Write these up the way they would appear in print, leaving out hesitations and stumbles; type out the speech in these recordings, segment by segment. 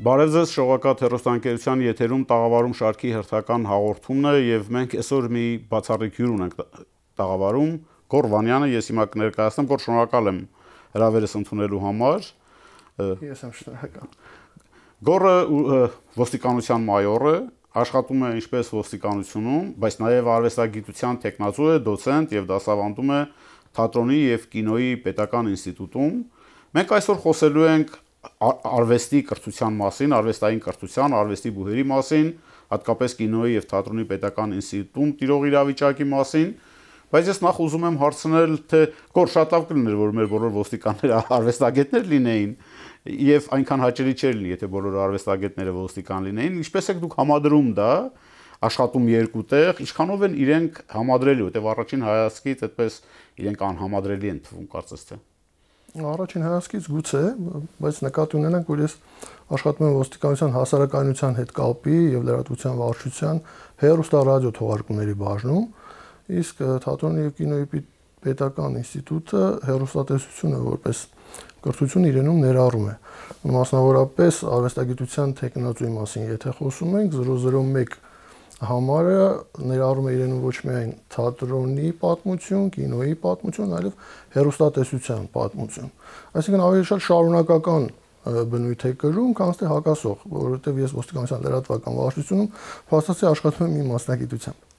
Բարև ձեզ, շողակաթ հեռուստաընկերության եթերում տաղավարում շարքի հերթական հաղորդումն է եւ մենք այսօր մի բացառիկ հյուր ունենք տաղավարում Գոռ Վանյանը, ես հիմա կներկայացնեմ, Գոռ, շնորհակալ եմ հրավերս ընդունելու համար։ Ես եմ շնորհակալ։ Գոռը ոստիկանության մայոր է, աշխատում է ինչպես ոստիկանությունում, բայց նաեւ արվեստագիտության տեխնացու է, դոցենտ եւ դասավանդում է թատրոնի եւ կինոյի պետական ինստիտուտում։ Մենք այսօր խոսելու ենք արվեստի կրթության մասին, արվեստային կրթության, արվեստի բուհերի մասին, հատկապես կինոյի եւ թատրոնի պետական ինստիտուտում տիրող իրավիճակի մասին, բայց ես նախ ուզում եմ հարցնել, թե Գոռ, շատ լավ կլիներ, որ մեր բոլոր ոստիկանները արվեստագետներ լինեին եւ այնքան հաճելի չէր լինի, եթե բոլոր արվեստագետները ոստիկան լինեին, ինչպես եք դուք համադրում դա, աշխատում երկու տեղ, ինչքանով են իրենք համադրելի, որտեղ առաջին հայացքից այդպես իրենք անհամադրելի են թվում, կարծես թե։ Առաջին հայացքից գուցե, բայց նկատի ունենանք, որ ես աշխատում եմ ոստիկանության հասարակայնության հետ կապի եւ լրատվության վարչության հեռուստա-ռադիո թողարկումների բաժնում, իսկ թատրոնի եւ կինոյի պետական ինստիտուտը հեռուստատեսությունը որպես կրթություն իրենում ներառում է։ Մասնավորապես արվեստագիտության տեխնացուի մասին եթե խոսում ենք 001 համարը ներառում է իրենում ոչ միայն թատրոնի պատմություն, կինոյի պատմություն, այլև հեռուստատեսության պատմություն։ Այսինքն ավելի շատ շարունակական բնույթ է կրում, քան թե հակասող, որովհետև ես ոստիկանության լրատվական վարչությունում փաստացի աշխատում եմ իմ մասնագիտությամբ։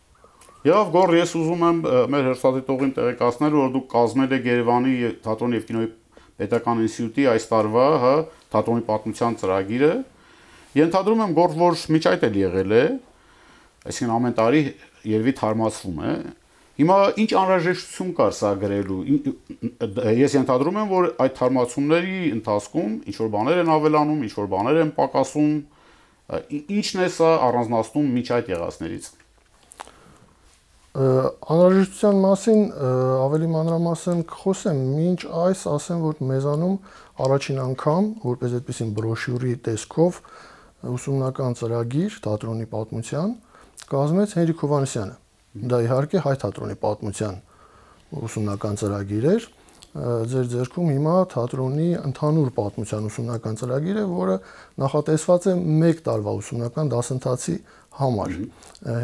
Եվ Գոռ, ես ուզում եմ մեր հերթադիտողին տեղեկացնել, որ դուք կազմել եք Երևանի թատրոնի եւ կինոյի պետական ինստիտուտի այս տարվա, թատրոնի պատմության ծրագիրը։ Ենթադրում եմ, Գոռ, որ միջ այդ էլ եղել է, այսինքն ամեն տարի երևի թարմացվում է։ Հիմա ինչ անհրաժեշտություն կար սա գրելու։ Ես ենթադրում եմ, որ այդ թարմացումների ընթացքում ինչ որ բաներ են ավելանում, ինչ որ բաներ են պակասում։ Ինչն է սա առանձնացնում միջ այդ եղածներից։ Անհրաժեշտության մասին ավելի մանրամասն կխոսեմ, մինչ այս ասեմ, որ մեզանում առաջին անգամ, որպես այդպիսին բրոշյուրի տեսքով ուսումնական ծրագիր թատրոնի պատմության կազմեց Հենրիկ Հովհաննիսյանը։ Դա իհարկե հայ թատրոնի պատմության ուսումնական ծրագիր էր։ Ձեր ձեռքում հիմա թատրոնի ընդհանուր պատմության ուսումնական ծրագիր է, որը նախատեսված է 1 տարվա ուսումնական դասընթացի համար։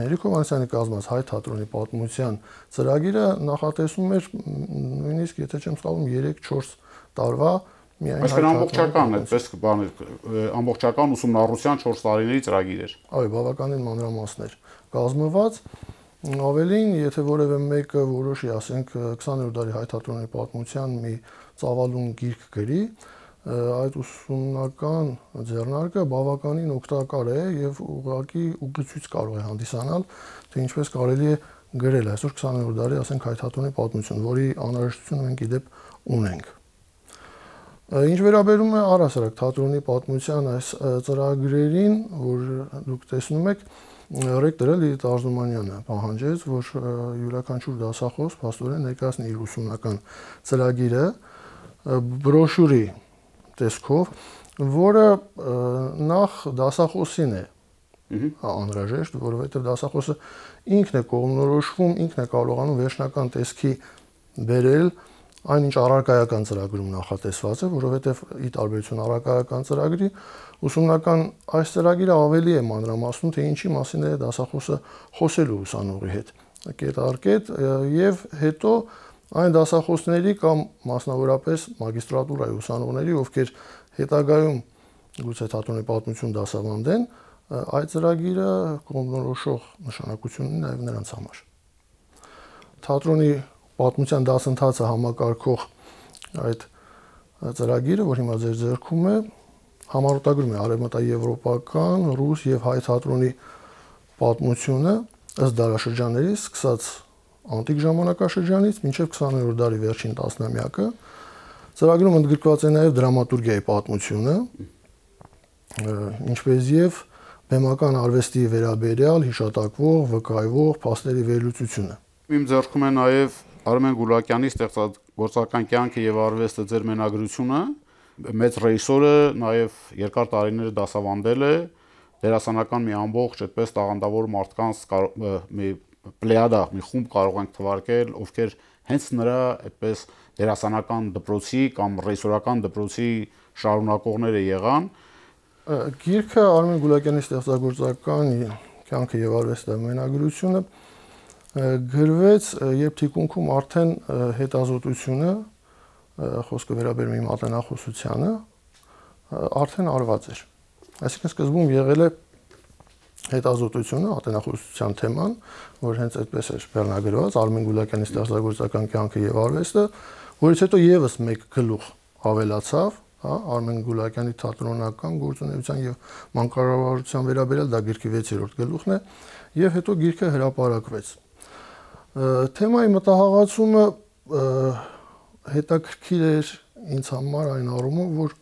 Հենրիկ Հովհաննիսյանի կազմած հայ թատրոնի պատմության ծրագիրը նախատեսում էր նույնիսկ, եթե չեմ սխալվում, 3-4 տարվա միայն Այսինքն ամբողջական, այդպես բան ամբողջական ուսումնառության 4 տարիների ծրագիր էր։ Այո, բավականին մանրամասն էր կազմված։ Ավելին, եթե որևէ մեկը որոշի, ասենք 20-րդ դարի հայ թատրոնի պատմության մի ծավալուն գիրք գրի, այդ ուսումնական ձեռնարկը բավականին օգտակար է եւ ուղղակի ուղղություն կարող է հանդիսանալ, թե ինչպես կարելի է գրել այսօր 20-րդ դարի, ասենք հայ թատրոնի պատմություն, որի անհրաժեշտություն մենք իդեպ ունենք։ Ինչ վերաբերում է առհասարակ թատրոնի պատմության այս ծրագրերին, որ դուք տեսնում եք, ռեկտորը Լիլիթ Արզումանյանը պահանջեց, որ յուրաքանչյուր դասախոս փաստորեն ներկայացնի իր ուսումնական ծրագիրը բրոշյուրի տեսքով, որը նախ դասախոսին է անհրաժեշտ, որովհետև դասախոսը ինքն է կողմնորոշվում, ինքն է կարողանում վերջնական տեսքի բերել այնինչ առարկայական ծրագրում նախատեսված է, որովհետև ի տարբերություն առարկայական ծրագրի ուսումնական այս ծրագիրը ավելի է մանրամասնում, թե ինչի մասին է դասախոսը խոսելու ուսանողի հետ կետարկետ եւ հետո այն դասախոսների կամ մասնավորապես մագիստրատուրայի ուսանողների, ովքեր հետագայում գուցե թատրոնի պատմություն դասավանդեն, այդ ծրագիրը կողմնորոշող նշանակություն ունի նաեւ նրանց համար։ Թատրոնի պատմության դասընթացը համակարգող այդ ծրագիրը, որ հիմա ձեր ձեռքում է, համառոտագրում է արևմտաեվրոպական, ռուս եւ հայ թատրոնի պատմությունը ըստ դարաշրջանների, սկսած անտիկ ժամանակաշրջանից մինչև 20-րդ դարի վերջին տասնամյակը։ Ծրագրում ընդգրկված է նաեւ դրամատուրգիայի պատմությունը, ինչպես եւ բեմական արվեստի վերաբերյալ հիշատակվող, վկայվող փաստերի վերլուծությունը։ Իմ ձեռքում է նաեւ Արմեն Գուլակյանի ստեղծագործական կյանքը եւ արվեստը ձեր մենագրությունը, մեծ ռեժիսորը նաեւ երկար տարիներ դասավանդել է, դերասանական մի ամբողջ այդպես տաղանդավոր մարդկանց մի պլեյադա, մի խումբ կարող ենք թվարկել, ովքեր հենց նրա այդպես դերասանական դպրոցի կամ ռեժիսորական դպրոցի շարունակողները եղան։ Գիրքը Արմեն Գուլակյանի ստեղծագործական կյանքը եւ արվեստը մենագրությունը գրվեց, երբ թիկունքում արդեն հետազոտությունը, խոսքը վերաբերում է մատենախոսությանը, արդեն արված էր։ Այսինքն սկզբում եղել է հետազոտությունը, ատենախոսության թեման, որ հենց այդպես էր վերնագրված Արմեն Գուլակյանի ստեղծագործական կյանքը եւ արվեստը, որից հետո եւս մեկ գլուխ ավելացավ, հա, Արմեն Գուլակյանի թատրոնական գործունեության եւ մանկավարժության վերաբերյալ, դա գրքի 6-րդ գլուխն է, եւ հետո գիրքը հրապարակվեց։ Թեմայի մտահղացումը հետաքրքիր էր ինձ համար այն առումով, որ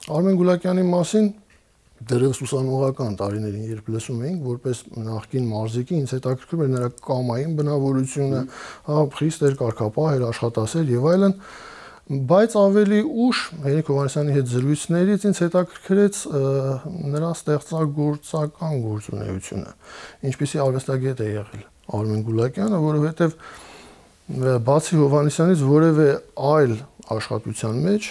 Արմեն Գուլակյանի մասին դեռևս ուսանողական տարիներին, երբ լսում էինք, որպես նախկին մարզիկի, ինձ հետաքրքրում էր նրա կամային բնավորությունը, հա, խիստ էր կարգապահ էր, աշխատասեր եւ այլն, բայց ավելի ուշ Հենրիկ Հովհաննիսյանի հետ զրույցներից ինձ հետաքրքրեց նրա ստեղծագործական գործունեությունը, ինչպիսի արվեստագետ է եղել Արմեն Գուլակյանը, որովհետեւ բացի Հովհաննիսյանից որևէ այլ աշխատության մեջ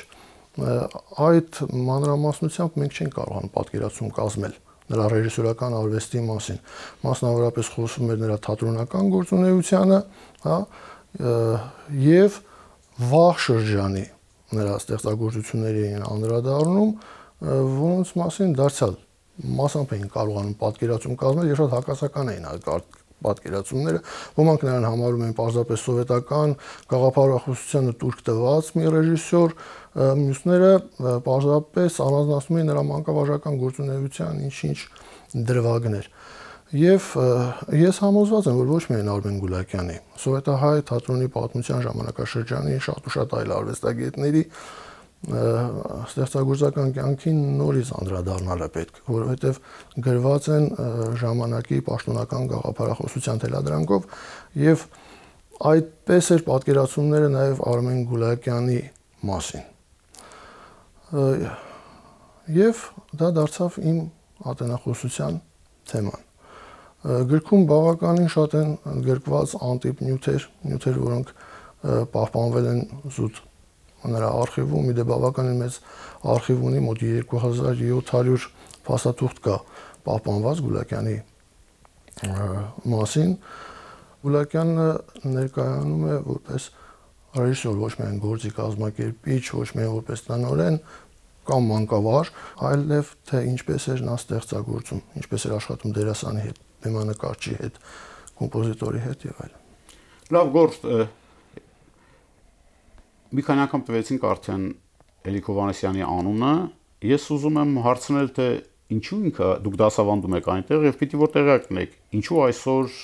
այդ մանրամասնությամբ մենք չենք կարողանում պատկերացում կազմել նրա ռեժիսորական արվեստի մասին, մասնավորապես խոսում էր նրա թատրոնական գործունեությանը, հա, եւ վաղ շրջանի նրա ստեղծագործությունների էին անդրադառնում, որոնց մասին դարձյալ մասամբ էին կարողանում պատկերացում կազմել, եւ շատ հակասական էին այդ պատկերացումները, ոմանք նրան համարում են պարզապես սովետական գաղափարախոսությանը տուրք տված մի ռեժիսոր, մյուսները պարզապես առանձնացնում են նրա մանկավարժական գործունեության ինչ-ինչ դրվագներ։ Եվ ես համոզված եմ, որ ոչ միայն Արմեն Գուլակյանի, սովետահայ թատրոնի պատմության ժամանակաշրջանի շատ ու շատ այլ արվեստագետների ստեղծագործական կյանքին նորից անդրադառնալ է պետք, որովհետև գրված են ժամանակի պաշտոնական գաղափարախոսության թելադրանքով եւ այդպես էր պատկերացումները նաեւ Արմեն Գուլակյանի մասին։ Եվ դա դարձավ իմ ատենախոսության թեման։ Գրքում բավականին շատ են գրկված անտիպ նյութեր, որոնք պահպանվել են զուտ նրա արխիվում, մի դե բավականին մեծ արխիվ ունի, մոտ 2700 փաստաթուղթ կա պահպանված Գուլակյանի մասին։ Գուլակյանը ներկայանում է որպես ռեժիսոր, ոչ միայն գործի կազմակերպիչ, ոչ միայն որպես տնօրեն կամ մանկավարժ, այլև թե ինչպես էր նա ստեղծագործում, ինչպես էր աշխատում դերասանի հետ, բեմանկարչի հետ, կոմպոզիտորի հետ եւ այլն։ Լավ գործ, մի քանի անգամ տվեցինք արդեն Հենրիկ Հովհաննիսյանի անունը, ես ուզում եմ հարցնել, թե ինչու ինքը դուք դասավանդում եք այնտեղ եւ պիտի որ տեղյակ լինեք, ինչու այսօր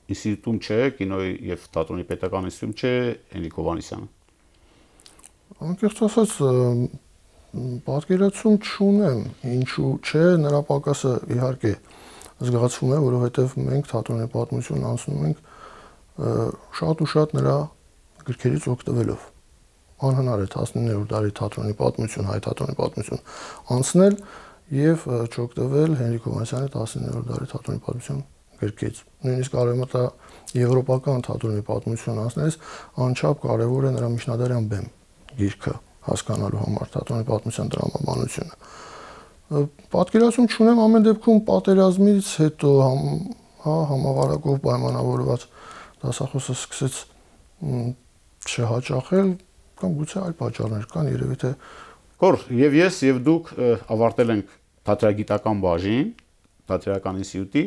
ինստիտուտում չէ, կինոյի եւ թատրոնի պետական ինստիտուտում չէ Հենրիկ Հովհաննիսյանը։ Անկեղծ ասած, պատկերացում չունեմ, ինչու չէ, նրա պակասը իհարկե զգացվում է, որովհետև մենք թատրոնի պատմություն անցնում ենք շատ ու շատ նրա գրքերից օգտվելով։ Անհնար է 19-րդ դարի թատրոնի պատմություն, հայ թատրոնի պատմություն անցնել եւ չօգտվել Հենրիկ Հովհաննիսյանի 19-րդ դարի թատրոնի պատմություն գրքից։ Նույնիսկ արևմտա եվրոպական թատրոնի պատմություն անցնելիս անչափ կարեւոր է նրա միջնադարյան բեմ գիրքը հասկանալու համար թատրոնի պատմության տրամաբանությունը։ Պատկերացում չունեմ ամեն դեպքում պատերազմից հետո համավարակով պայմանավորված դասախոսը սկսեց չհաճախել կամ գուցե այլ պատճառներ կան, երևի թե Կոր, եւ ես եւ դուք ավարտել ենք թատերագիտական բաժին, թատերական ինստիտուտի։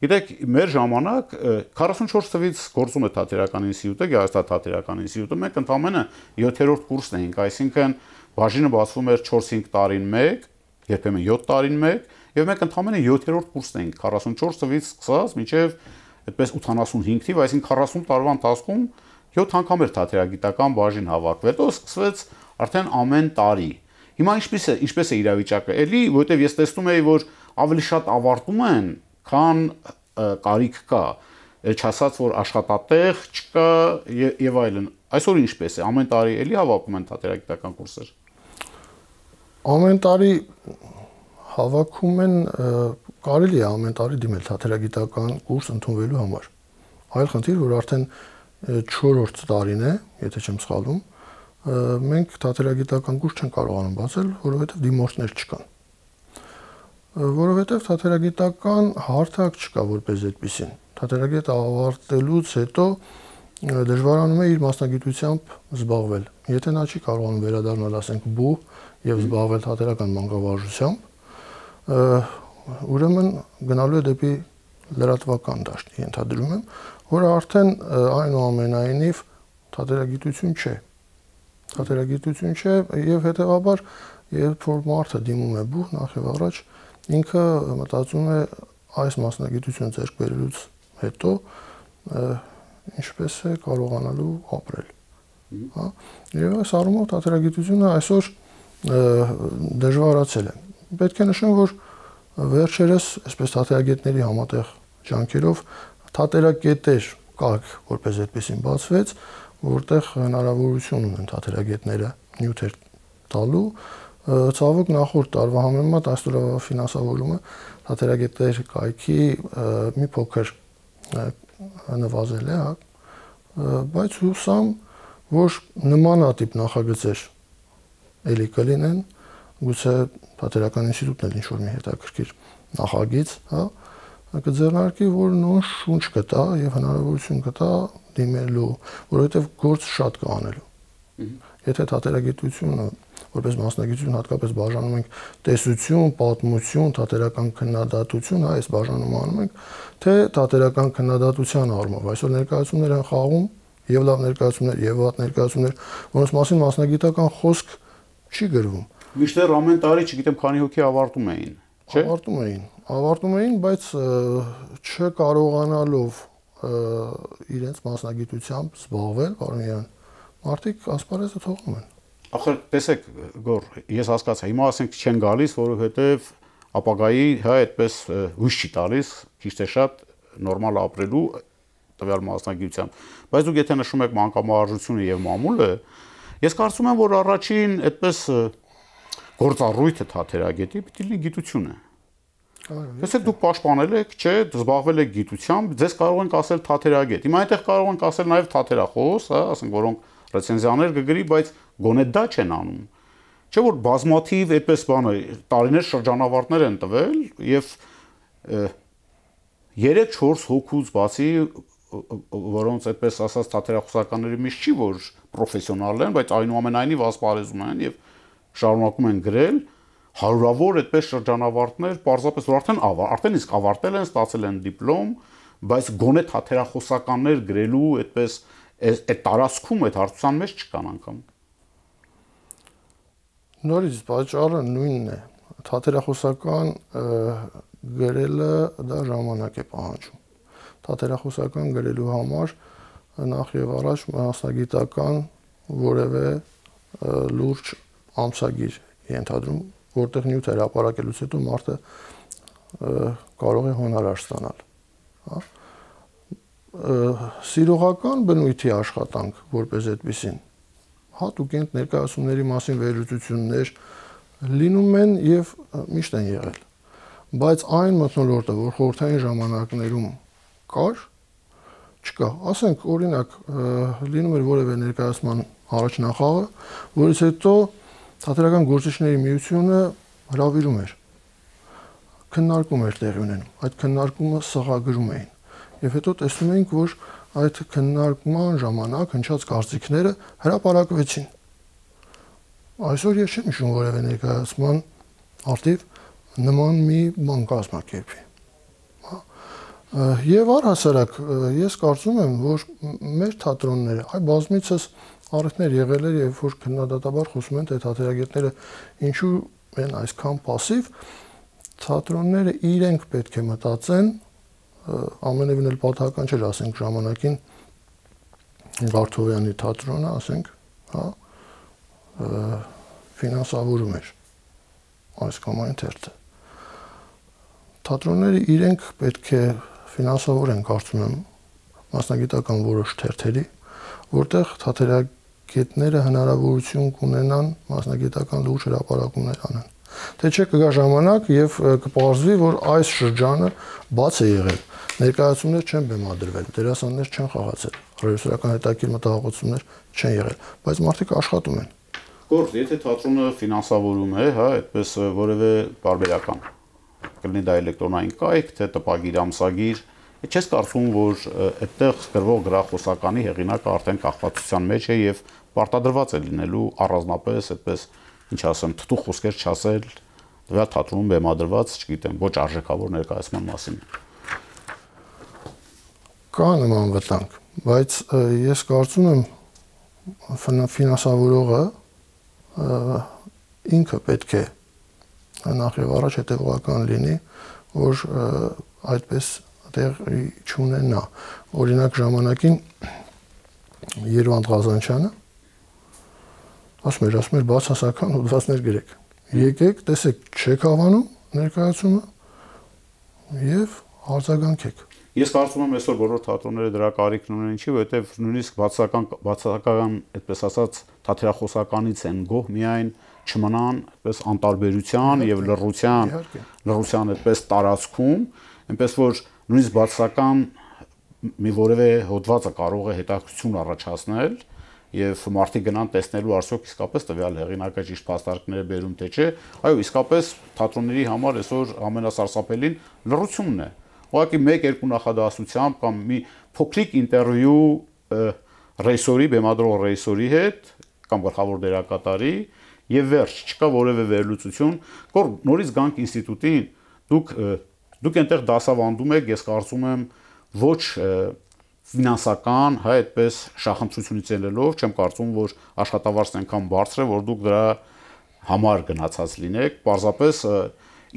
Գիտեք, մեր ժամանակ 44 թվից գործում է թատերական ինստիտուտը, գեղարվեստաթատերական ինստիտուտը, մենք ընդամենը 7-րդ կուրսն էինք, այսինքն բաժինը բացվում էր 4-5 տարին մեկ, երբեմն 7 տարին մեկ, եւ մենք ընդամենը 7-րդ կուրսն էինք 44 թվից սկսած մինչեւ այդպես 85 թիվ, այսինքն 40 տարվա ընթացքում 7 անգամ էր թատերագիտական բաժին հավաքվել, հետո սկսվեց արդեն ամեն տարի։ Հիմա ինչպես է իրավիճակը, էլի, որովհետեւ ես տեսնում եի, որ ավելի շատ ավարտում են, քան կարիք կա, չասած որ աշխատատեղ չկա եւ այլն։ Այսօր ինչպես է, ամեն տարի էլի հավաքում են թատերագիտական կուրսեր։ Ամեն տարի հավաքում են, կարելի է ամեն տարի դիմել թատերագիտական կուրս ընդունվելու համար։ Այլ խնդիր, որ արդեն 4-րդ տարին է, եթե չեմ սխալվում, մենք թատերագիտական կուրս չեն կարողանում բացել, որովհետև դիմորդներ չկան։ որովհետև թատերագիտական հարթակ չկա որպես այդպեսին։ Թատերագետը ավարտելուց հետո դժվարանում է իր մասնագիտությամբ զբաղվել։ Եթե նա չի կարողանում վերադառնալ, ասենք, բու եւ զբաղվել թատերական մանկավարժությամբ, ուրեմն գնալու է դեպի լրատվական դաշտ, ենթադրում եմ, որը արդեն այնուամենայնիվ թատերագիտություն չէ։ Թատերագիտություն չէ եւ հետեւաբար երբ որ մարդը դիմում է բու, նախ եւ առաջ ինքը մտածում է այս մասնագիտությունը ձեռք բերելուց հետո ինչպես է կարողանալու ապրել։ Հա։ Եվ այս առումով թատերագիտությունը այսօր դժվարացել է։ Պետք է նշեմ, որ վերջերս այսպես թատերագետների համատեղ ջանքերով թատերակետեր կարգ որպես այդպեսին բացվեց, որտեղ հնարավորություն ունեն թատերագետները նյութեր տալու։ Ցավոք նախորդ տարվա համեմատ այս տարվա ֆինանսավորումը թատերագետների կայքի մի փոքր նվազել է, բայց հուսամ, որ նմանատիպ նախագծեր էլի կլինեն, գուցե թատերական ինստիտուտն էլ ինչ-որ մի հետաքրքիր նախագիծ, հա, կձեռնարկի, որ նոր շունչ կտա եւ հնարավորություն կտա դիմելու, որովհետեւ գործ շատ կա անելու։ Եթե թատերագիտությունը որպես մասնագիտություն հատկապես բաժանում ենք տեսություն, պատմություն, թատերական քննադատություն, հա, այս բաժանումը անում ենք, թե թատերական քննադատության առումով։ Այսօր ներկայացումներ են խաղում, եւ լավ ներկայացումներ, եւ վատ ներկայացումներ, որոնց մասին մասնագիտական խոսք չի գրվում։ Միշտեր ամեն տարի, չգիտեմ, քանի հոգի ավարտում էին, չէ՞։ Ավարտում էին, բայց չկարողանալով իրենց մասնագիտությամբ զբաղվել, բարոյան, մարդիկ ասպարեզը թողնում են։ Ախր տեսեք, Գոր, ես հասկացա, հիմա ասենք չեն գալիս, որովհետև ապագայի, հա, այդպես հույս չի տալիս, քիչ թե շատ նորմալ ապրելու տվյալ մասնագիտությամբ։ Բայց դուք եթե նշում եք մանկամարժությունը եւ մամուլը, ես կարծում եմ, որ առաջին այդպես գործառույթը թատերագետի պիտի լինի գիտությունը։ Տեսեք, դուք պաշտպանել եք, չէ, զբաղվել եք գիտությամբ, ձեզ կարող ենք ասել թատերագետ։ Հիմա այնտեղ կարող ենք ասել նաեւ թատերախոս, հա, ասենք, որոնք ռեցենզիաներ կգրի, բայց գոնե դա չեն անում։ Չէ՞ որ բազմաթիվ այդպես բանը տարիներ շրջանավարտներ են տվել եւ 3-4 հոգուց բացի, որոնց այդպես ասած թատերախոսականների մեջ չի որ պրոֆեսիոնալ են, բայց այնուամենայնիվ ասպարեզում են եւ շարունակում են գրել հարյուրավոր այդպես շրջանավարտներ, պարզապես որ արդեն իսկ ավարտել են, ստացել են դիպլոմ, բայց գոնե թատերախոսականներ գրելու այդպես այդ տարածքում այդ հարցության մեջ չկան անգամ։ Նորից պատճառը նույնն է։ Թատերախոսական գրելը դա ժամանակ է պահանջում։ Թատերախոսական գրելու համար նախ եւ առաջ մասնագիտական որևէ լուրջ ամսագիր ենթադրում, որտեղ նյութ հրապարակելուց հետո մարդը կարող է հոնորար ստանալ, հա։ Սիրողական բնույթի աշխատանք որպես այդպեսին հատուկ են ներկայացումների մասին վերլուծություններ լինում են եւ միշտ են եղել, բայց այն մթնոլորտը, որ խորհրդային ժամանակներում կար, չկա։ Ասենք օրինակ լինում էր որևէ ներկայացման առաջնախաղը, որից հետո թատերական գործիչների միությունը հրավիրում էր, քննարկում էր տեղի ունենում, այդ քննարկումը սղագրում էին եւ հետո տեսնում էինք, որ այդ քննարկման ժամանակ հնչած կարծիքները հրապարակվեցին։ Այսօր ես չեմ հիշում որևէ ներկայացման արդիվ նման մի բան կազմակերպի։ Եվ առհասարակ ես կարծում եմ, որ մեր թատրոնները, այ բազմիցս առիթներ եղել էր, երբ որ քննադատաբար խոսում են, թե թատերագետները ինչու են այսքան пассив, թատրոնները իրենք պետք է մտածեն, ամենևին էլ պատահական չէր, ասենք ժամանակին Վարդովյանի թատրոնը, ասենք, հա, ֆինանսավորում էր այս կամ այն թերթը։ Թատրոնները իրենք պետք է ֆինանսավորեն, կարծում եմ, մասնագիտական որոշ թերթերի, որտեղ թատերագետները հնարավորություն կունենան մասնագիտական լուրջ հրապարակումներ անեն։ Թե չէ կգա ժամանակ եւ կպարզվի, որ այս շրջանը բաց է եղել, ներկայացումներ չեն բեմադրվել, դերասաններ չեն խաղացել, ռեժիսորական հետաքրքիր մտահոգություններ չեն եղել, բայց մարդիկ աշխատում են։ Գործ, եթե թատրոնը ֆինանսավորում է, հա, այդպես որևէ բարբերական կլինի դա էլեկտրոնային կայք, թե տպագիր, ամսագիր, չես կարծում, որ այդտեղ գրվող գրախոսականի հեղինակը արդեն կախվածության մեջ է եւ պարտադրված է լինելու առանձնապես այդպես, ինչ ասեմ, թթու խոսքեր չասել դրա թատրոնում բեմադրված, չգիտեմ, ոչ արժեքավոր ներկայացման մասին։ Կա նման վտանգ, բայց ես կարծում եմ ֆինանսավորողը ինքը պետք է նախ եւ առաջ հետեւողական լինի, որ այդպես տեղի չունենա։ Օրինակ ժամանակին Երվանդ Ղազանչյանը ասում էր բացասական հոդվածներ գրեք։ Եկեք, տեսեք, չեք հավանում ներկայացումը եւ արձագանքեք։ Ես կարծում եմ այսօր բոլոր թատրոնները դրա կարիքն ունեն, ինչի, որովհետև նույնիսկ բացասական, այդպես ասած, թատերախոսականից են գոհ միայն չմնան այդպես անտարբերության եւ լռության այդպես տարածքում, այնպես որ նույնիսկ բացասական մի որևէ հոդվածը կարող է հետաքրքրություն առաջացնել եւ մարդիկ գնան տեսնելու արդյոք իսկապես տվյալ հեղինակը ճիշտ փաստարկներ բերում թե չէ, այո, իսկապես թատրոնների համար այսօր ամենասարսափելին լռությունն է։ Ուղղակի 1-2 նախադասությամբ կամ մի փոքրիկ ինտերվյու ռեժիսորի, բեմադրող ռեժիսորի հետ կամ գլխավոր դերակատարի եւ վերջ, չկա որևէ վերլուծություն, որ նորից գանք ինստիտուտին, դուք այնտեղ դասավանդում եք, ես կարծում եմ, ոչ ֆինանսական, հա, այդպես շախնդրությունից ելնելով, չեմ կարծում, որ աշխատավարձն այնքան բարձր է, որ դուք դրա համար գնացած լինեք, պարզապես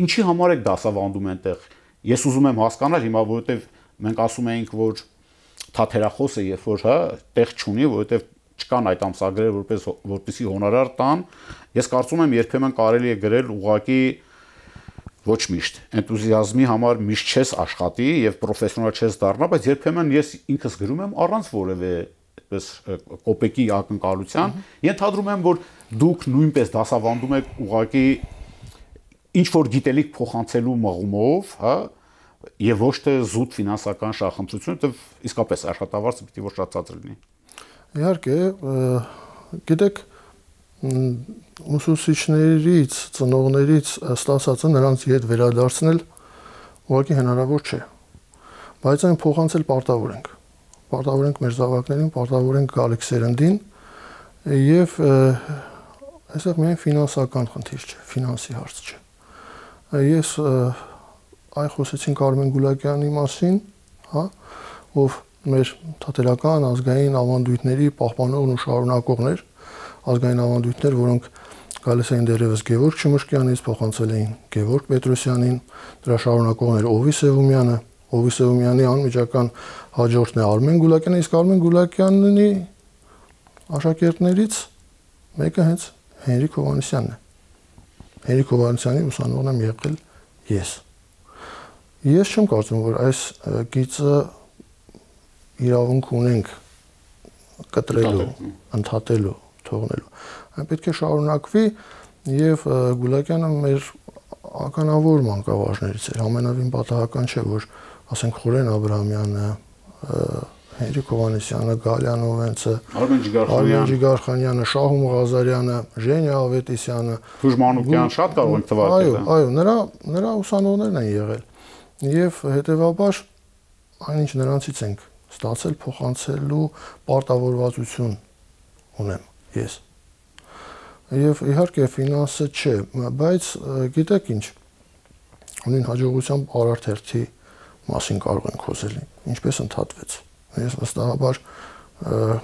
ինչի համար եք դասավանդում այնտեղ։ Ես ուզում եմ հասկանալ հիմա, որովհետև մենք ասում էինք, որ թատերախոսը երբ որ հա տեղ չունի, որովհետև չկան այդ ամսագրերը, որպեսզի հոնորար տան, ես կարծում եմ երբեմն կարելի է գրել ուղղակի ոչ միշտ էնտուզիազմի համար միշտ չես աշխատի եւ պրոֆեսիոնալ չես դառնա, բայց երբեմն ես ինքս գրում եմ առանց որևէ այդպես կոպեկի ակնկալության, ենթադրում եմ, որ դուք նույնպես դասավանդում եք ուղղակի ինչ որ գիտելիք փոխանցելու մղումով, հա, եւ ոչ թե զուտ ֆինանսական շահխնդրություն, որտեղ իսկապես աշխատավարձը պիտի որ շատ ցածր լինի։ Իհարկե, գիտեք, ուսուցիչներից, ծնողներից ստացածը նրանց հետ վերադարձնել ուղղակի հնարավոր չէ։ Բայց այն փոխանցել պարտավոր ենք։ Պարտավոր ենք մեր զավակներին, պարտավոր ենք գալիք սերնդին եւ այստեղ միայն ֆինանսական խնդիր չէ, ֆինանսի հարց չէ։ Ես այ խոսեցինք Արմեն Գուլակյանի մասին, հա, ով մեր թատերական ազգային ավանդույթների պահպանողն ու շարունակողներ, ազգային ավանդույթներ, որոնք գալիս էին դերևս Գևորգ Չմշկյանից, փոխանցել էին Գևորգ Պետրոսյանին, դրա շարունակողներ Օվի Սևումյանի անմիջական հաջորդն է Արմեն Գուլակյանը, իսկ Արմեն Գուլակյանի աշակերտներից մեկը հենց Հենրիկ Հովհաննիսյանն է։ Հենրիկ Հովհաննիսյանի ուսանողն եմ եղել ես։ Ես չեմ կարծում, որ այս գիծը իրավունք ունենք կտրելու, ընդհատելու, թողնելու։ Այն պետք է շարունակվի եւ Գուլակյանը մեր ականավոր մանկավարժներից էր։ Ամենավին պատահական չէ, որ ասենք Խորեն Աբրահամյանը, Հենրիկ Հովհաննիսյանը, Գալյան Օվենցը, Արմեն Ջիգարխանյանը, Շահում Ղազարյանը, Ժենյա Ավետիսյանը, Թուժմանուկյան շատ կարող ենք թվարկել։ Այո, նրա ուսանողներն են եղել։ Եվ հետեւաբար այնինչ նրանցից ենք ստացել փոխանցելու պարտավորվածություն ունեմ ես։ Եվ իհարկե ֆինանսը չէ, բայց գիտեք ինչ, ունին հաջողությամբ Արարթերթի մասին կարող ենք խոսել, ինչպես ընդհատվեց։ Ես վստահաբար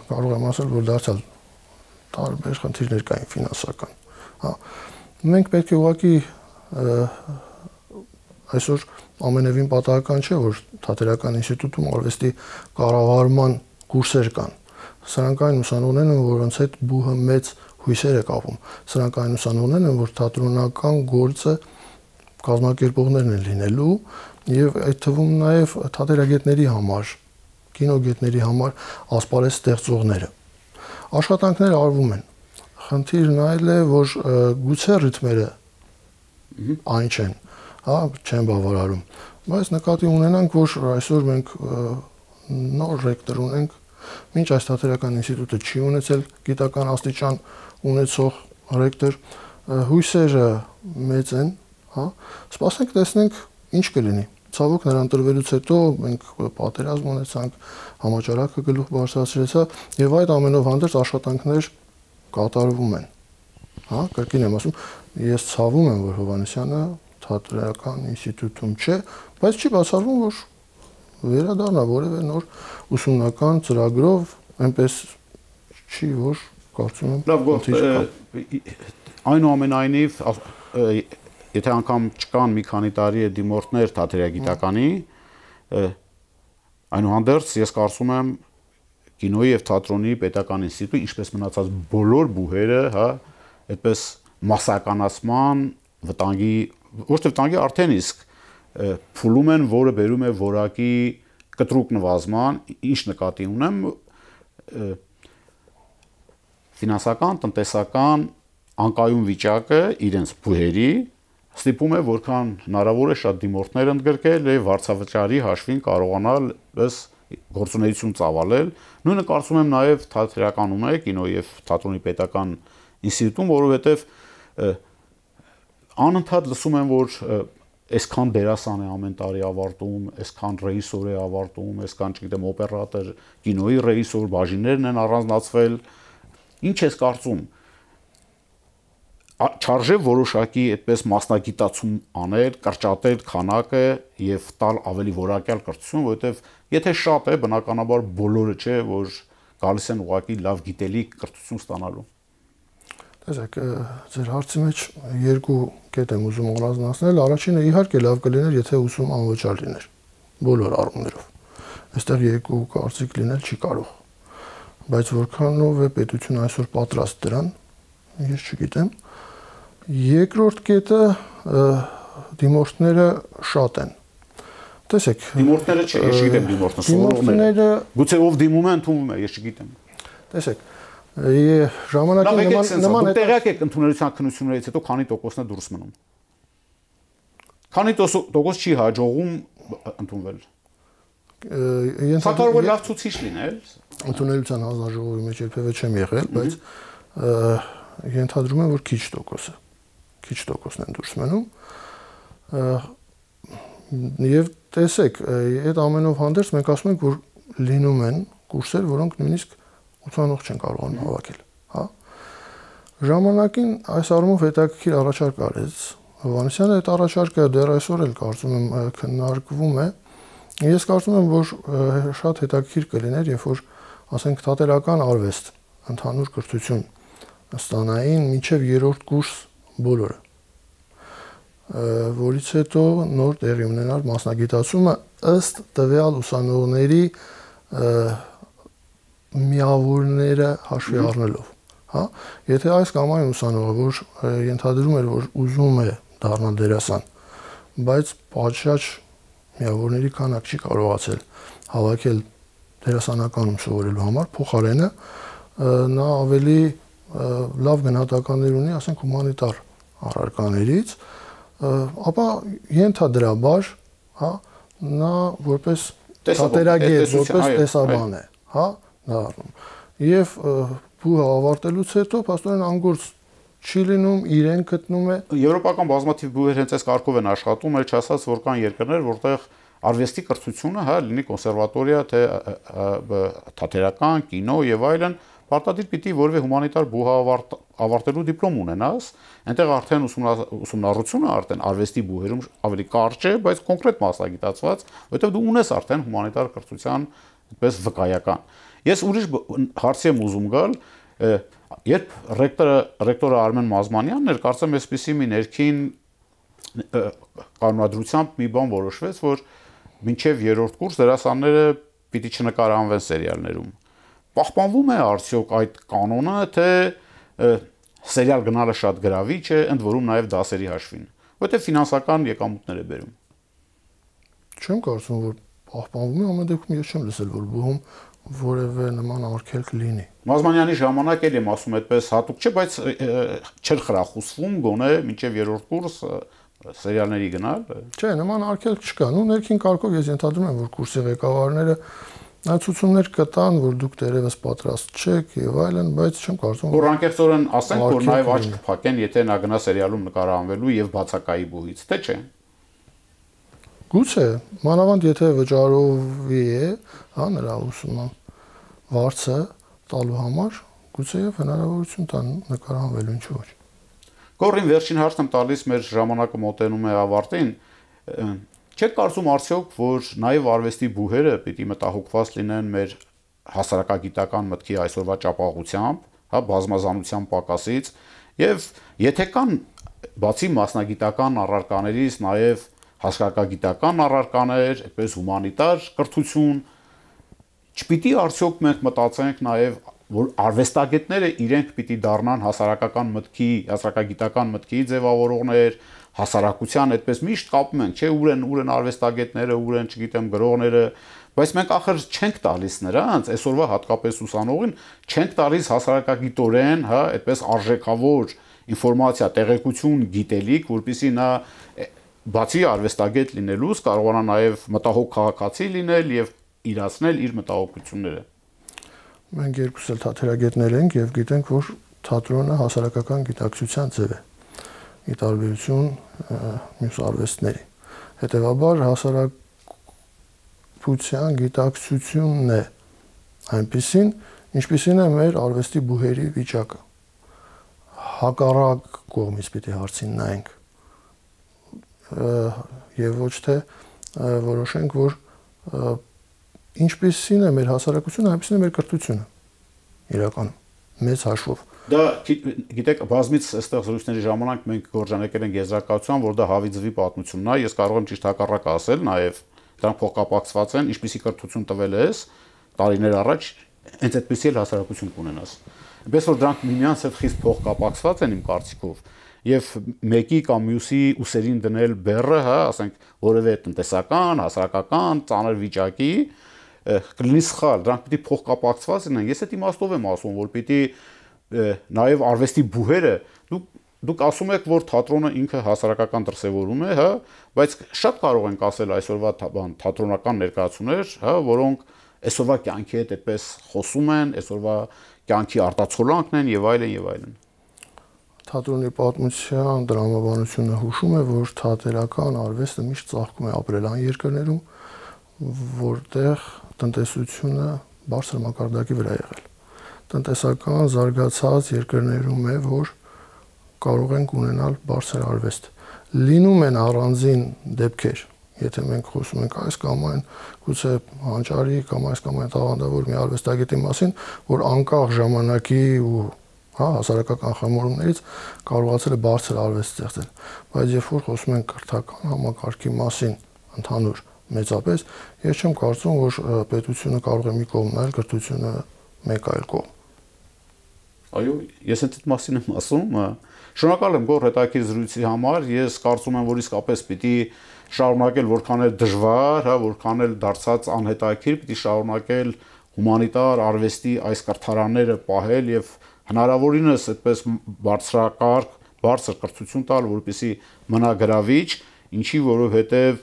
կարող եմ ասել, որ դարձյալ տարբեր խնդիրներ կային ֆինանսական։ Հա, մենք պետք է ուղղակի այսօր ամենևին պատահական չէ, որ Թատերական ինստիտուտում արվեստի կառավարման կուրսեր կան։ Սրանք այն ուսանողներն են, որոնց հետ ԲՈՒՀ-ը մեծ հույսեր է կապում։ Սրանք այն ուսանողներն են, որ թատրոնական գործը կազմակերպողներն են լինելու եւ այդ թվում նաեւ թատերագետների համար, կինոգետների համար ասպարեզ ստեղծողները։ Աշխատանքներ արվում են։ Խնդիրն այլ է, որ գուցե ռիթմերը այն չեն, հա, չեն բավարարում։ Բայց նկատի ունենանք, որ այսօր մենք նոր ռեկտոր ունենք, մինչ այս Թատերական ինստիտուտը չի ունեցել գիտական աստիճան ունեցող ռեկտոր, հույսերը մեծ են հա, սպասենք տեսնենք ինչ կլինի։ Ցավոք նրան տրվելուց հետո մենք պատերազմ ունեցանք, համաճարակը գլուխ բարձրացրեցա եւ այդ ամենով հանդերձ աշխատանքներ կատարվում են։ Հա, կրկին եմ ասում, ես ցավում եմ, որ Հովհաննիսյանը թատերական ինստիտուտում չէ, բայց չի բացառվում, որ վերադառնա որևէ նոր ուսումնական ծրագրով, այնպես չի, որ կարծում եմ։ Լավ, այնուամենայնիվ, եթե անգամ չկան մի քանի տարի դիմորդներ թատերագիտականի, այնուհանդերձ ես կարծում եմ կինոյի եւ թատրոնի պետական ինստիտուտը, ինչպես մնացած բոլոր բուհերը, հա, այդպես մասսականացման վտանգի, ոչ թե վտանգի, արդեն իսկ փուլում են, որը բերում է որակի կտրուկ նվազման, ինչ նկատի ունեմ, ֆինանսական, տնտեսական անկայուն վիճակը իրենց բուհերի ստիպում է որքան հնարավոր է շատ դիմորդներ ընդգրկել եւ վարձավճարի հաշվին կարողանալ ըս գործունեություն ծավալել։ Նույնը կարծում եմ նաեւ թատերականում է, կինոյի եւ թատրոնի պետական ինստիտուտում, որովհետեւ անընդհատ լսում եմ, որ այսքան դերասան է ամեն տարի ավարտում, այսքան ռեժիսոր է ավարտում, այսքան, չգիտեմ, օպերատոր, կինոյի ռեժիսոր, բաժիններն են առանձնացվել։ Ինչ ես կարծում, չարժե որոշակի այդպես մասնագիտացում անել, կրճատել քանակը եւ տալ ավելի որակյալ կրթություն, որովհետեւ եթե շատ է, բնականաբար բոլորը չէ, որ գալիս են ուղղակի լավ գիտելիք կրթություն ստանալու։ Տեսեք, ձեր հարցի մեջ երկու կետ եմ ուզում առանձնացնել։ Առաջինը իհարկե լավ կլիներ, եթե ուսումը անվճար լիներ, բոլոր առումներով։ Այստեղ երկու կարծիք լինել չի կարող։ Բայց որքանով է պետությունը այսօր պատրաստ դրան, ես չգիտեմ։ Երկրորդ կետը դիմորդները շատ են։ Տեսեք, դիմորդները չէ, ես չգիտեմ դիմորդները, սովորողները։ Գուցե ով դիմում է, ընդունվում է, ես չգիտեմ։ Տեսեք, ժամանակին նման տեղյակ եք ընդունելության քննություններից հետո քանի տոկոսն է դուրս մնում։ Քանի տոկոս չի հաջողում ընդունվել։ Կարող է լավ ցուցիչ լինել։ Ընդունելության հանձնաժողովի մեջ երբևէ չեմ եղել, բայց ենթադրում եմ, որ քիչ տոկոսն են դուրս մնում։ Եվ տեսեք, այդ ամենով հանդերձ մենք ասում ենք, որ լինում են կուրսեր, որոնք նույնիսկ 80-ով չեն կարողանում հավաքել, հա։ Ժամանակին այս առումով հետաքրքիր առաջարկ արեց Հովհաննիսյանը, այդ առաջարկը դեռ այսօր էլ կարծում եմ քննարկվում է։ Ես կարծում եմ, որ շատ հետաքրքիր կլիներ, երբ որ ասենք թատերական արվեստ, ընդհանուր կրթություն ստանային մինչև 3-րդ կուրս բոլորը, որից հետո նոր տեղի ունենար մասնագիտացումը ըստ տվյալ ուսանողների միավորները հաշվի առնելով, հա, եթե այս կամ այն ուսանողը, որ ենթադրում էր, որ ուզում է դառնալ դերասան, բայց պատշաճ միավորների քանակ չի կարողացել հավաքել դերասանականում սովորելու համար, փոխարենը նա ավելի լավ գնահատականներ ունի, ասենք հումանիտար առարկաներից, ապա ենթադրաբար, հա, նա որպես թատերագետ, որպես տեսաբան է, հա, դառնում։ Եվ բուհը ավարտելուց հետո փաստորեն անգործ չի լինում, իրեն գտնում է։ Եվրոպական բազմաթիվ բուհեր հենց այս կարգով են աշխատում, էլ չասած, որ կան երկրներ, որտեղ արվեստի կրթությունը, հա, լինի կոնսերվատորիա, թե թատերական, կինո եւ այլն, պարտադիր պիտի որևէ հումանիտար բուհ ավարտելու դիպլոմ ունենաս, այնտեղ արդեն ուսումնառությունը արդեն արվեստի բուհերում ավելի կարճ է, բայց կոնկրետ մասնագիտացված, որովհետեւ դու ունես արդեն հումանիտար կրթության այդպես վկայական։ Ես ուրիշ հարցի եմ ուզում գալ, երբ ռեկտորը Արմեն Մազմանյանն էր, կարծեմ այսպիսի մի ներքին կանոնադրությամբ մի բան որոշվեց, որ մինչև 3-րդ կուրս դերասանները պիտի չնկարահանվեն սերիալներում։ Պահպանվում է արդյոք այդ կանոնը, թե սերիալ գնալը շատ գրավիչ է, ընդ որում նաև դասերի հաշվին, որովհետև ֆինանսական եկամուտներ է բերում։ Չեմ կարծում, որ պահպանվում է, ամեն դեպքում ես չեմ լսել, որ բուհում որևէ նման արգելք լինի։ Մազմանյանի ժամանակ էլ եմ ասում այդպես հատուկ չէ, բայց չէր խրախուսվում գոնե մինչև 3-րդ կուրս սերիալների գնալ։ Չէ, նման արգելք չկա։ Ու ներքին կարգով ես ենթադրում եմ, որ կուրսի ղեկավարները Ցուցումներ կտան, որ դուք դերևս պատրաստ չեք եւ այլն, բայց չեմ կարծում որ անկեղծորեն ասենք, որ նաեւ աչք կփակեն, եթե նա գնա սերիալում նկարահանվելու եւ բացակայի բուհից, թե՞ չէ։ Գուցե, մանավանդ եթե վճարովի է, հա, նրա ուսումը վարձը տալու համար, գուցե եւ հնարավորություն տան նկարահանվելու, ինչու՞ ոչ։ Գորին վերջին հարցն եմ տալիս, մեր ժամանակը մոտենում է ավարտին։ Չեք կարծում արդյոք, որ նաեւ արվեստի բուհերը պիտի մտահոգված լինեն մեր հասարակագիտական մտքի այսօրվա ճապաղությամբ, հա, բազմազանության պակասից, եւ եթե կան բացի մասնագիտական առարկաներից նաեւ հասարակագիտական առարկաներ, այդպես հումանիտար կրթություն, չպիտի արդյոք մենք մտածենք նաեւ, որ արվեստագետները իրենք պիտի դառնան հասարակական մտքի, հասարակագիտական մտքի ձևավորողներ, հասարակության այդպես միշտ կապում ենք, չէ, ուր են արվեստագետները, ուր են, չգիտեմ, գրողները, բայց մենք ախր չենք տալիս նրանց, այսօրվա հատկապես ուսանողին չենք տալիս հասարակագիտորեն, հա, այդպես արժեքավոր ինֆորմացիա, տեղեկություն, գիտելիք, որպեսզի նա բացի արվեստագետ լինելուց կարողանա նաև մտահոգ քաղաքացի լինել եւ իրացնել իր մտահոգությունները։ Մենք երկուս էլ թատերագետներ ենք եւ գիտենք, որ թատրոնը հասարակական գիտակցության ձև է։ Ի տարբերություն մյուս արվեստների։ Հետևաբար հասարակության գիտակցությունն է այնպիսին, ինչպիսին է մեր արվեստի բուհերի վիճակը։ Հակառակ կողմից պիտի հարցին նայենք եւ ոչ թե որոշենք, որ ինչպիսին է մեր հասարակությունը, այնպիսին է մեր կրթությունը իրականում մեծ հաշվով։ Դա գիտեք, բազմից այստեղ զրույցների ժամանակ մենք գործանեկել ենք եզրակացության, որ դա հավիձվի պատմությունն է, ես կարող եմ ճիշտ հակառակը ասել, նաև դրանք փոխկապակցված են, ինչպիսի կրթություն տվել ես տարիներ առաջ, հենց այդպիսի էլ հասարակություն կունենաս։ Այնպես որ դրանք միմյանց հետ խիստ փոխկապակցված են իմ կարծիքով, եւ մեկի կամ մյուսի ուսերին դնել բեռը, հա, ասենք որևէ տնտեսական, հասարակական, ծանր վիճակի կլինի սխալ, դրանք պիտի փոխկապակցված լինեն։ Ես այդ իմաստով եմ ասում, որ պիտի նաև արվեստի բուհերը դուք ասում եք, որ թատրոնը ինքը հասարակական դրսևորում է, հա, բայց շատ կարող ենք ասել այսօրվա թատրոնական ներկայացումներ, հա, որոնք այսօրվա կյանքի հետ այդպես խոսում են, այսօրվա կյանքի արտացոլանքն են եւ այլն եւ այլն։ Թատրոնի պատմության դրամաբանությունը հուշում է, որ թատերական արվեստը միշտ ծաղկում է ապրելային երկրներում, որտեղ տնտեսությունը բարձր մակարդակի վրա եղել։ Տնտեսական զարգացած երկրներում է, որ կարող ենք ունենալ բարձր արվեստ։ Լինում են առանձին դեպքեր, եթե մենք խոսում ենք այս կամ այն, գուցե հանճարի կամ այս կամ այն տաղանդավոր մի արվեստագետի մասին, որ անկախ ժամանակի ու հասարակական խմորումներից կարողացել է բարձր արվեստ ստեղծել, բայց երբ որ խոսում ենք կրթական համակարգի մասին ընդհանուր մեծապես, ես չեմ կարծում, որ պետությունը կարող է մի կողմ նայել, կրթությունը մեկ այլ կողմ։ Այո, ես այդ մասին եմ ասում, շնորհակալ եմ Գոռ հետաքրքիր զրույցի համար, ես կարծում եմ, որ իսկապես պիտի շարունակել որքան էլ դժվար, հա, որքան էլ դարձած անհետաքրքիր, պիտի շարունակել հումանիտար արվեստի այս կրթարանները պահել եւ հնարավորինս այդպես բարձրակարգ, բարձր կրթություն տալ, որպեսզի մնա գրավիչ, ինչի որովհետեւ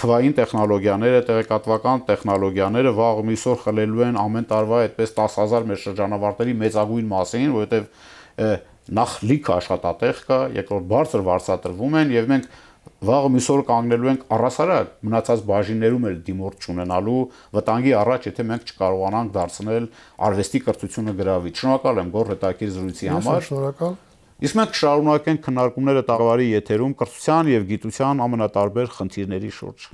թվային տեխնոլոգիաները, տեղեկատվական տեխնոլոգիաները վաղ միսօր խլելու են ամեն տարվա այդպես 10,000 մեր շրջանավարտների մեծագույն մասին, որովհետեւ նախ լիքը աշխատատեղ կա, երկրորդ բարձր վարձատրվում են եւ մենք վաղ միսօր կանգնելու ենք առասարակ մնացած բաժիններում էլ դիմորդ չունենալու վտանգի առաջ, եթե մենք չկարողանանք դարձնել արվեստի կրթությունը գրավիչ։ Շնորհակալ եմ Գոռ հետաքրքիր զրույցի համար։ Շնորհակալ։ Իսկ մենք կշարունակենք քննարկումները տաղավարի եթերում կրթության եւ գիտության ամենատարբեր խնդիրների շուրջ։